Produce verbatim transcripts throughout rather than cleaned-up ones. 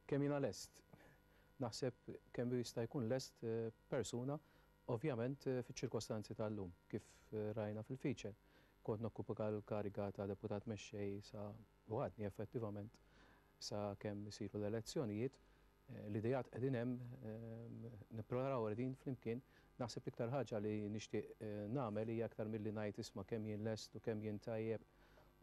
Kemm jiena lest? Naħseb kemm jista' jkun lest persuna, ovvjament fiċ-ċirkostanzi tal-lum, kif rajna fil-feature. Kont nokkupa l-kariga ta' deputat mexxej sa u għadni effettivament sa kemm isiru l-elezzjonijiet. L-idejat qegħdin hemm, nippreparaw qegħdin flimkien. Naħseb l-iktar ħaġa li nixtieq nagħmel hija aktar milli ngħid isma' kemm jien lest u kemm jien tajjeb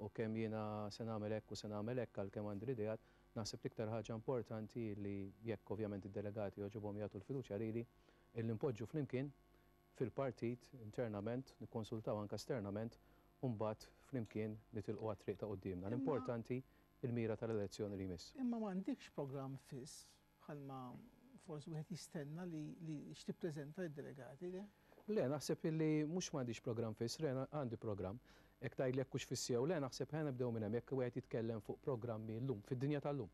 u kemm jiena se nagħmel hekk u se nagħmel hekk għalkemm għandi l-idejat. Naħseb l-iktar ħaġa importanti li jekk ovvjament id-delegati jogħġobhom jagħtu l-fiduċja lili, illi npoġġu flimkien fil-partit internament, nikkonsultaw anke esternament, u mbagħad flimkien nitilqu għat-triq ta' quddiemna. L-importanti il-mira tal-elezzjoni li jmiss. Imma m'għandikx programm fiss bħalma forsi wieħed jistenna li li x'tippreżenta lid-delegati, le? Le, naħseb illi mhux m'għandix programm fiss, le, għandi programm. Jekk tgħidli jekk hux fiss jew le, naħseb ħa nibdew minn hemm jekk wieħed jitkellem fuq programmi llum, fid-dinja tal-lum.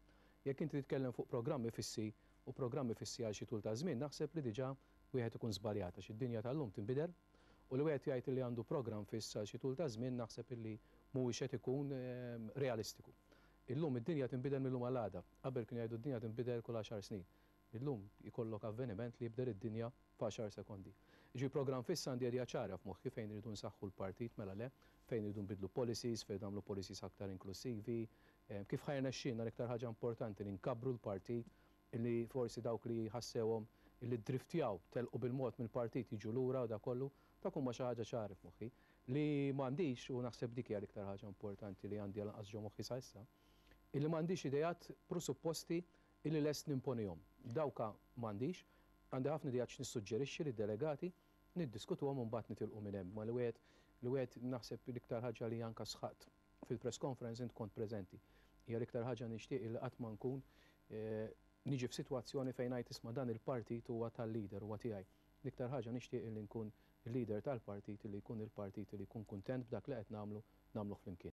Jekk inti titkellem fuq programmi fissi u programmi fissi għal xi tul ta' żmien, naħseb li diġà wieħed ikun żbaljat għax id-dinja tal-lum tinbidel u li wieħed jgħid li għandu programm fiss għal xi tul ta' żmien naħseb illi mhuwiex qed ikun realistiku. Illum id-dinja tinbidel mill-lum għal għada. Qabel kienu jgħidu d-dinja tinbidel kull għaxar snin. Illum jkollok avveniment li jibdel id-dinja f'għaxar sekondi. Ġi programm fiss għandi idea ċara f'moħħi fejn irridu nsaħħu l-partit mela le, fejn irridu nbidlu policies, fejn nagħmlu policies aktar inklusivi, kif ħa jirnexxielna l-iktar ħaġa importanti li nkabbru l-partit, illi forsi dawk li ħassewhom illi driftjaw telqu bil-mod mill-partit jiġu lura u da kollu, dak huma xi ħaġa ċari f'moħħi. Li m'għandix, u naħseb dik hija l-iktar ħaġa importanti li għandi għal ġo moħħi sa issa, illi m'għandix idejat presupposti illi lest nimponihom. Dawka m'għandix, għandi ħafna idejat x'nissuġġerixxi lid-delegati, niddiskutuhom u mbagħad nitilqu minn hemm. Ma li wieħed li wieħed naħseb l-iktar ħaġa li anke sħaqt fil-press conference int kont preżenti. Hija l-iktar ħaġa nixtieq li qatt ma nkun niġi f'sitwazzjoni fejn ngħid isma' dan il-partit huwa tal-leader huwa tiegħi. L-iktar ħaġa nixtieq li nkun il-leader tal-partit li jkun il-partit li jkun kuntent b'dak li qed nagħmlu nagħmluh flimkien.